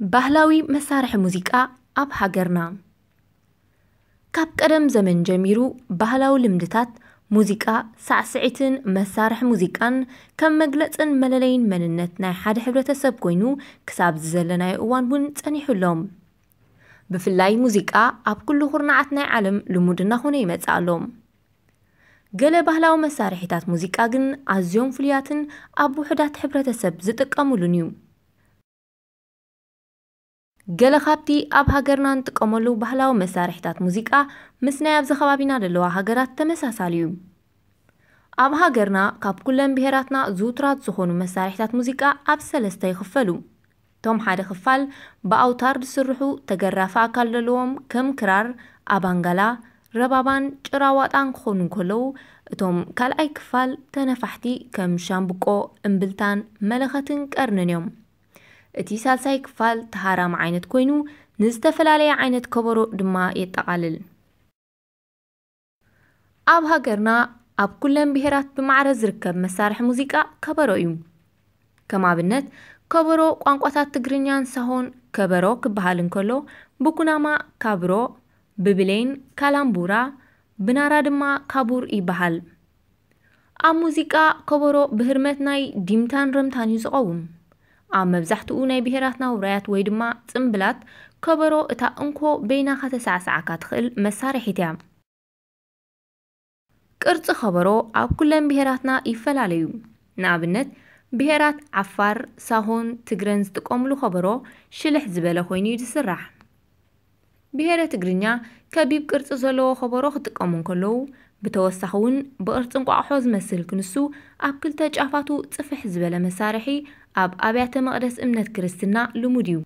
ባህላዊ መሳርሒ ሙዚቃ ኣብ ሃገርና። ካብ ቀደም ዘመን ጀሚሩ ባህላዊ ልምድታት ሙዚቃ፣ ሳዕስዒትን መሳርሒ ሙዚቃን ከም መግለጽን መለለይን መንነት ናይ ሓደ ሕብረተሰብ ኮይኑ ክሳብ ዝዘለናዮ እዋን እውን ጸኒሑ ኣሎ። ብፍላይ ሙዚቃ ኣብ ኩሉ ኩርናዓት ናይ ዓለም ልሙድ እናኾነ ይመጽእ ኣሎ። ገለ ባህላዊ መሳርሒታት ሙዚቃ ግን ኣዝዮም ፍሉያትን ኣብ ውሑዳት ሕብረተሰብ ዝጥቀሙሉን እዩ። ገለ ካብቲ ኣብ ሃገርና እንጥቀመሉ ባህላዊ መሳርሒታት ሙዚቃ ምስ ናይ ኣብዚ ከባቢና ዘለዋ ሃገራት ተመሳሳሊ እዩ። ኣብ ሃገርና ካብ ኩለን ብሄራትና ዝውቱራት ዝኾኑ መሳርሒታት ሙዚቃ ኣብ ሰለስተ ይኽፈሉ። እቶም ሓደ ክፋል ብኣውታር ዝስርሑ ተገራፊ ኣካል ዘለዎም ከም ክራር፣ ኣባንጋላ፣ ረባባን ጭራዋጣን ክኾኑ እንከለዉ፣ እቶም ካልኣይ ክፋል ተነፋሕቲ ከም ሻምብቆ፣ እምብልታን መለኸትን ቀርንን እዮም። እቲ ሳልሳይ ክፋል ተሃራሚ ዓይነት ኮይኑ፣ ንዝተፈላለየ ዓይነት ከበሮ ድማ የጠቓልል። ኣብ ሃገርና ኣብ ኩለን ብሄራት ብማዕረ ዝርከብ መሳርሒ ሙዚቃ ከበሮ እዩ። ከም ኣብነት፣ ከበሮ ቋንቋታት ትግርኛን ሳሆን ከበሮ ክበሃል እንከሎ፣ ብኩናማ ካብሮ፣ ብብሌን ካላምቡራ፣ ብናራ ድማ ካቡር ይበሃል። ኣብ ሙዚቃ ከበሮ ብህርመት ናይ ዲምታን ረምታን እዩ ዝቐውም። ኣብ መብዛሕትኡ ናይ ብሄራትና ውራያት ወይ ድማ ጽምብላት፣ ከበሮ እታ እንኮ በይና ከተሳዕስዓካ ትኽእል መሳርሒት እያ። ቅርጺ ከበሮ ኣብ ኩለን ብሄራትና ይፈላለዩ። ንኣብነት፣ ብሄራት ዓፋር፣ ሳሆን፣ ትግረን ዝጥቀምሉ ከበሮ ሽልሕ ዝበለ ኮይኑ እዩ ዝስራሕ። ብሄረ ትግርኛ ከቢብ ቅርጺ ዘለዎ ከበሮ ክጥቀሙ እንከለዉ፣ ብተወሳኺ እውን ብቕርጺ እንቋቑሖ ዝመስል ክንሱ ኣብ ክልተ ጫፋቱ ጽፍሕ ዝበለ መሳርሒ ኣብ ኣብያተ መቕደስ እምነት ክርስትና ልሙድ እዩ።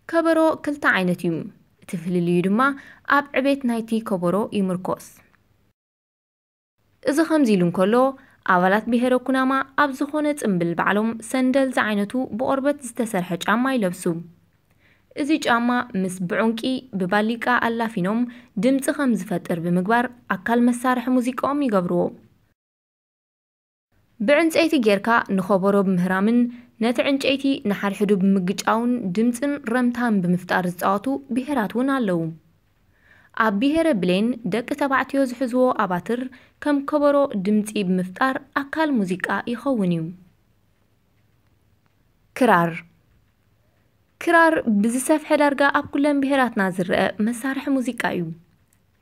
ከበሮ ክልተ ዓይነት እዩ። እቲ ፍልልዩ ድማ ኣብ ዕቤት ናይቲ ከበሮ ይምርኮስ። እዚ ከምዚ ኢሉ እንከሎ፣ ኣባላት ብሄረ ኩናማ ኣብ ዝኾነ ጽምብል ባዕሎም ሰንደል ዝዓይነቱ ብቆርበት ዝተሰርሐ ጫማ ይለብሱ። እዚ ጫማ ምስ ብዑንቂ ብባሊቃ ኣላፊኖም ድምጺ ከም ዝፈጥር ብምግባር ኣካል መሳርሒ ሙዚቃኦም ይገብርዎ። ብዕንጸይቲ ጌርካ ንኸበሮ ብምህራምን ነቲ ዕንጨይቲ ንሓድሕዱ ብምግጫውን ድምጽን ረምታን ብምፍጣር ዝጻወቱ ብሄራት እውን ኣለዉ። ኣብ ብሄረ ብሌን ደቂ ተባዕትዮ ዝሕዝዎ ኣባትር ከም ከበሮ ድምጺ ብምፍጣር ኣካል ሙዚቃ ይኸውን እዩ። ክራር። ክራር ብዝሰፍሐ ዳርጋ ኣብ ኩለን ብሄራትና ዝረአ መሳርሒ ሙዚቃ እዩ።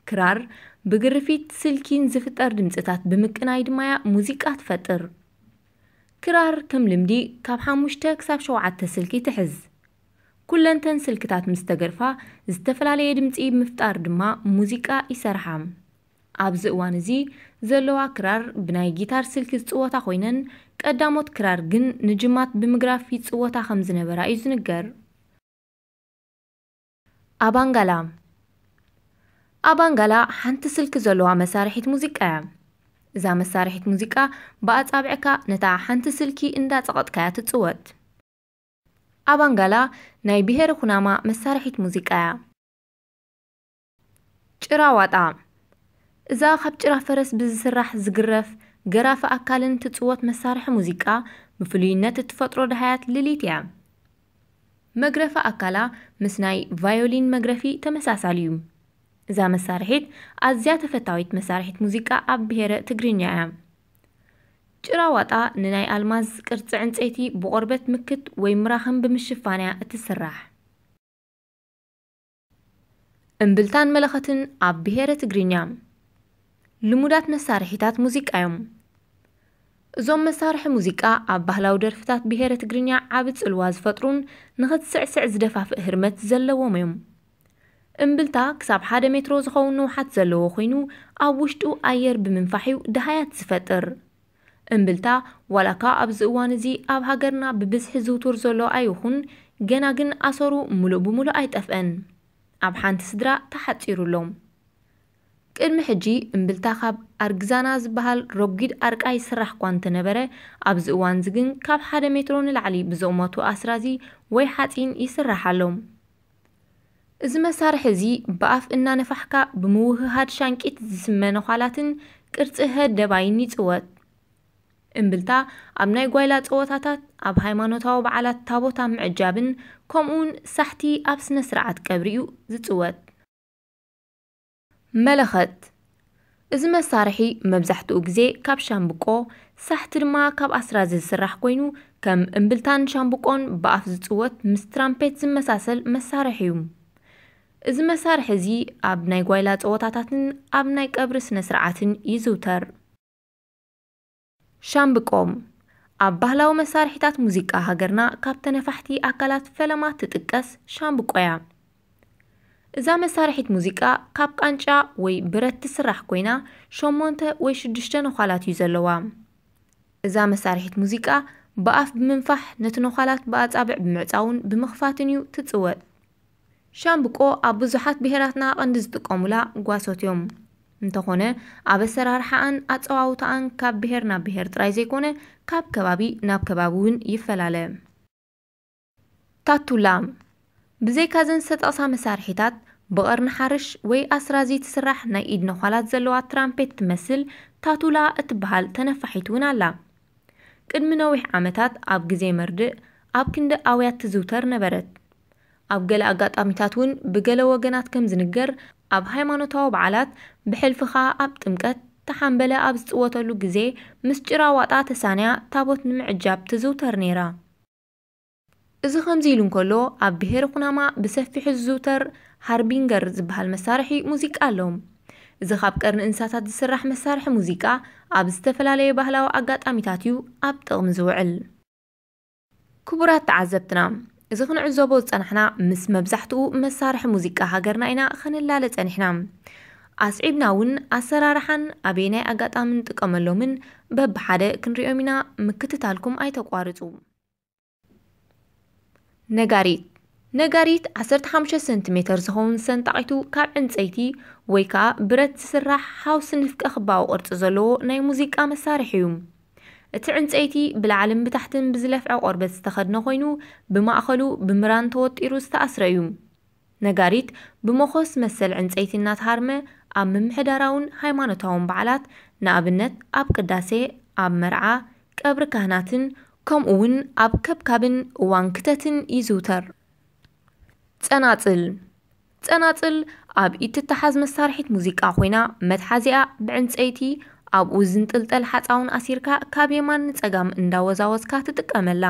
ክራር ብግርፊት ስልኪን ዝፍጠር ድምጽታት ብምቅናይ ድማ እያ ሙዚቃ ትፈጥር። ክራር ከም ልምዲ ካብ ሓሙሽተ ክሳብ ሸውዓተ ስልኪ ትሕዝ። ኩለንተን ስልክታት ምስ ተገርፋ ዝተፈላለየ ድምጺ ብምፍጣር ድማ ሙዚቃ ይሰርሓ። ኣብዚ እዋን እዚ ዘለዋ ክራር ብናይ ጊታር ስልኪ ዝጽወታ ኮይነን፣ ቀዳሞት ክራር ግን ንጅማት ብምግራፍ ይጽወታ ከም ዝነበራ እዩ ዝንገር። ኣባንጋላ። ኣባንጋላ ሓንቲ ስልኪ ዘለዋ መሳርሒት ሙዚቃ እያ። እዛ መሳርሒት ሙዚቃ ብኣጻብዕካ ነታ ሓንቲ ስልኪ እንዳጸቐጥካያ ትጽወት። ኣባንጋላ ናይ ብሄረ ኩናማ መሳርሒት ሙዚቃ እያ። ጭራ ዋጣ። እዛ ካብ ጭራ ፈረስ ብዝስራሕ ዝግረፍ ገራፊ ኣካልን ትጽወት መሳርሒ ሙዚቃ ብፍሉይነት እትፈጥሮ ደሃያት ልሊት እያ። መግረፊ ኣካላ ምስ ናይ ቫዮሊን መግረፊ ተመሳሳሊ እዩ። እዛ መሳርሒት ኣዝያ ተፈታዊት መሳርሒት ሙዚቃ ኣብ ብሄረ ትግርኛ እያ። ጭራ ዋጣ ንናይ ኣልማዝ ቅርጺ ዕንጸይቲ ብቆርበት ምክት ወይ ምራኽን ብምሽፋን እያ እትስራሕ። እምብልታን መለኸትን ኣብ ብሄረ ትግርኛ ልሙዳት መሳርሒታት ሙዚቃ እዮም። እዞም መሳርሒ ሙዚቃ ኣብ ባህላዊ ደርፍታት ብሄረ ትግርኛ ዓቢ ጽልዋ ዝፈጥሩን ንኽትስዕስዕ ዝደፋፍእ ህርመት ዘለዎም እዮም። እምብልታ ክሳብ ሓደ ሜትሮ ዝኸውን ንውሓት ዘለዎ ኮይኑ፣ ኣብ ውሽጡ ኣየር ብምንፋሕ እዩ ደሃያት ዝፈጥር። እምብልታ ዋላካ ኣብዚ እዋን እዚ ኣብ ሃገርና ብብዝሒ ዝውቱር ዘሎ ኣይኹን፣ ገና ግን ኣሰሩ ምሉእ ብምሉእ ኣይጠፍአን። ኣብ ሓንቲ ስድራ ተሓጺሩ ኣሎ። ቅድሚ ሕጂ እምብልታ ካብ ኣርግዛና ዝበሃል ረጒድ ኣርቃይ ይስራሕ እኳ እንተነበረ፣ ኣብዚ እዋን እዚ ግን ካብ ሓደ ሜትሮ ንላዕሊ ብዝቕመቱ ኣስራዚ ወይ ሓጺን ይስራሕ ኣሎ። እዚ መሳርሒ እዚ ብኣፍ እናነፋሕካ ብምውህሃድ ሻንቂት ዝስመ ነዃላትን ቅርጺ ህደባይን ይጽወት። እምብልታ ኣብ ናይ ጓይላ ጸወታታት፣ ኣብ ሃይማኖታዊ በዓላት ታቦት ኣብ ምዕጃብን ከምኡውን ሳሕቲ ኣብ ስነ ስርዓት ቀብሪ እዩ ዝጽወት። መለኸት። እዚ መሳርሒ መብዛሕትኡ ግዜ ካብ ሻምብቆ፣ ሳሕቲ ድማ ካብ ኣስራዚ ዝስራሕ ኮይኑ፣ ከም እምብልታን ሻምብቆን ብኣፍ ዝጽወት ምስ ትራምፔት ዝመሳሰል መሳርሒ እዩ። እዚ መሳርሒ እዚ ኣብ ናይ ጓይላ ጸወታታትን ኣብ ናይ ቀብሪ ስነ ስርዓትን ይዝውተር። ሻምብቆ። ኣብ ባህላዊ መሳርሒታት ሙዚቃ ሃገርና ካብ ተነፋሕቲ ኣካላት ፈለማ ትጥቀስ ሻምብቆ እያ። እዛ መሳርሒት ሙዚቃ ካብ ቃንጫ ወይ ብረት ትስራሕ ኮይና፣ ሸሞንተ ወይ ሽዱሽተ ነዃላት እዩ ዘለዋ። እዛ መሳርሒት ሙዚቃ ብኣፍ ብምንፋሕ፣ ነቲ ነዃላት ብኣጻብዕ ብምዕጻውን ብምኽፋትን እዩ ትጽወት። ሻምብቆ ኣብ ብዙሓት ብሄራትና ቀንዲ ዝጥቀሙላ ጓሶት እዮም። እንተኾነ፣ ኣብ ኣሰራርሓኣን ኣጸዋውታኣን ካብ ብሄር ናብ ብሄር ጥራይ ዘይኮነ፣ ካብ ከባቢ ናብ ከባቢ እውን ይፈላለ። ታቱላ። ብዘይካዘን ዝተጠቕሳ መሳርሒታት፣ ብቐርኒ ሓርሽ ወይ ኣስራዚ ትስራሕ ናይ ኢድ ነዃላት ዘለዋ ትራምፔት ትመስል ታቱላ እትበሃል ተነፋሒት እውን ኣላ። ቅድሚ ነዊሕ ዓመታት ኣብ ግዜ መርድእ ኣብ ክንዲ ኣውያት ትዝውተር ነበረት። ኣብ ገለ ኣጋጣሚታት እውን ብገለ ወገናት ከም ዝንገር፣ ኣብ ሃይማኖታዊ በዓላት፣ ብሕልፊ ኸኣ ኣብ ጥምቀት፣ ተሓምበለ ኣብ ዝጽወተሉ ግዜ ምስ ጭራ ዋጣ ተሳንያ ታቦት ንምዕጃብ ትዝውተር ነይራ። እዚ ከምዚ ኢሉ እንከሎ፣ ኣብ ብሄረ ኩናማ ብሰፊሑ ዝዝውተር ሃርቢንገር ዝበሃል መሳርሒ ሙዚቃ ኣሎ። እዚ ካብ ቀርኒ እንስሳታት ዝስራሕ መሳርሒ ሙዚቃ ኣብ ዝተፈላለየ ባህላዊ ኣጋጣሚታት እዩ ኣብ ጥቕሚ ዝውዕል። ክቡራት ተዓዘብትና፣ እዚ ክንዕዘቦ ዝጸናሕና ምስ መብዛሕትኡ መሳርሒ ሙዚቃ ሃገርና ኢና ክንላለ ጸኒሕና። ኣስዒብና እውን ኣሰራርሓን ኣበየናይ ኣጋጣሚ ንጥቀመሎምን በብሓደ ክንሪኦም ኢና፣ ምክትታልኩም ኣይተቋርጹ። ነጋሪት። ነጋሪት ዓሰርተ ሓሙሽተ ሰንቲሜተር ዝኸውን ሰንጣቒቱ ካብ ዕንጸይቲ ወይ ከኣ ብረት ዝስራሕ ሃውሲ ንፍቀ ክባዊ ቅርጺ ዘለዎ ናይ ሙዚቃ መሳርሒ እዩ። እቲ ዕንጸይቲ ብላዕልን ብታሕትን ብዝለፍዐ ቆርበት ዝተኸድነ ኮይኑ፣ ብማእከሉ ብምራን ተወጢሩ ዝተኣስረ እዩ። ነጋሪት ብመኾስ መሰል ዕንጸይቲ እናተሃርመ ኣብ ምምሕዳራውን ሃይማኖታውን በዓላት፣ ንኣብነት ኣብ ቅዳሴ፣ ኣብ መርዓ፣ ቀብሪ ካህናትን ከምኡ እውን ኣብ ከብካብን እዋን ክተትን ይዝውተር። ጸናጽል። ጸናጽል ኣብ ኢድ ትተሓዝ መሳርሒት ሙዚቃ ኮይና፣ መትሓዚኣ ብዕንጸይቲ፣ ኣብኡ ዝንጥልጠል ሓጻውን ኣሲርካ ካብ የማን ንጸጋም እንዳወዛወዝካ ትጥቀመላ።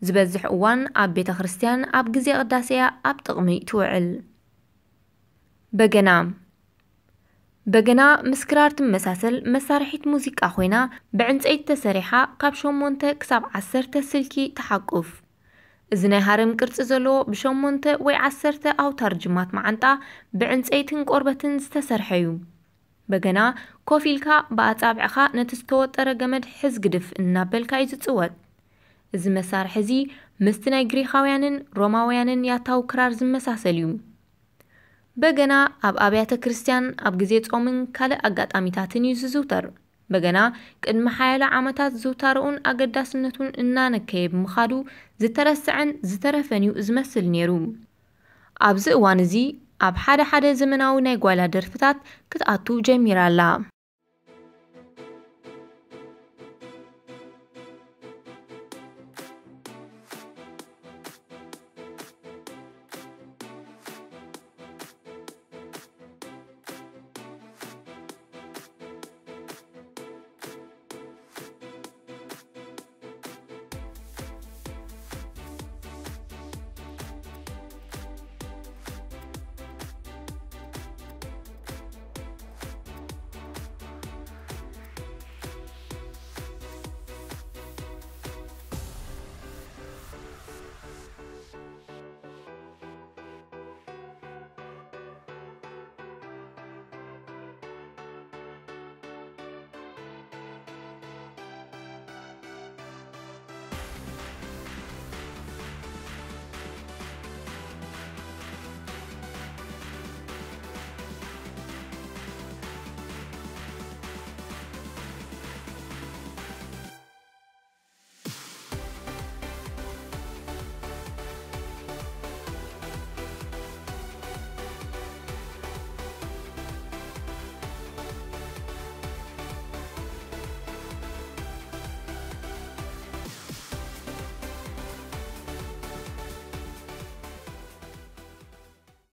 ዝበዝሕ እዋን ኣብ ቤተ ክርስቲያን ኣብ ግዜ ቅዳሴ እያ ኣብ ጥቕሚ ትውዕል። በገና። በገና ምስ ክራር ትመሳሰል መሳርሒት ሙዚቃ ኮይና፣ ብዕንጸይቲ ተሰሪሓ ካብ ሸሞንተ ክሳብ ዓሰርተ ስልኪ ትሓቁፍ። እዚ ናይ ሃረም ቅርጺ ዘለዎ ብሸሞንተ ወይ ዓሰርተ ኣውታር ጅማት መዓንጣ ብዕንጸይትን ቆርበትን ዝተሰርሐ እዩ። በገና ኮፍ ኢልካ ብኣጻብዕኻ ነቲ ዝተወጠረ ገመድ ሕዝግድፍ እናበልካ እዩ ዝጽወት። እዚ መሳርሒ እዚ ምስቲ ናይ ግሪኻውያንን ሮማውያንን ያታዊ ክራር ዝመሳሰል እዩ። በገና ኣብ ኣብያተ ክርስቲያን፣ ኣብ ግዜ ጾምን ካልእ ኣጋጣሚታትን እዩ ዝዝውተር። በገና ቅድሚ ሓያሎ ዓመታት ዝውታረኡን ኣገዳስነቱን እናነከየ ብምኻዱ ዝተረስዐን ዝተረፈን እዩ ዝመስል ነይሩ። ኣብዚ እዋን እዚ ኣብ ሓደ ሓደ ዘመናዊ ናይ ጓይላ ደርፍታት ክትኣቱ ጀሚራ ኣላ።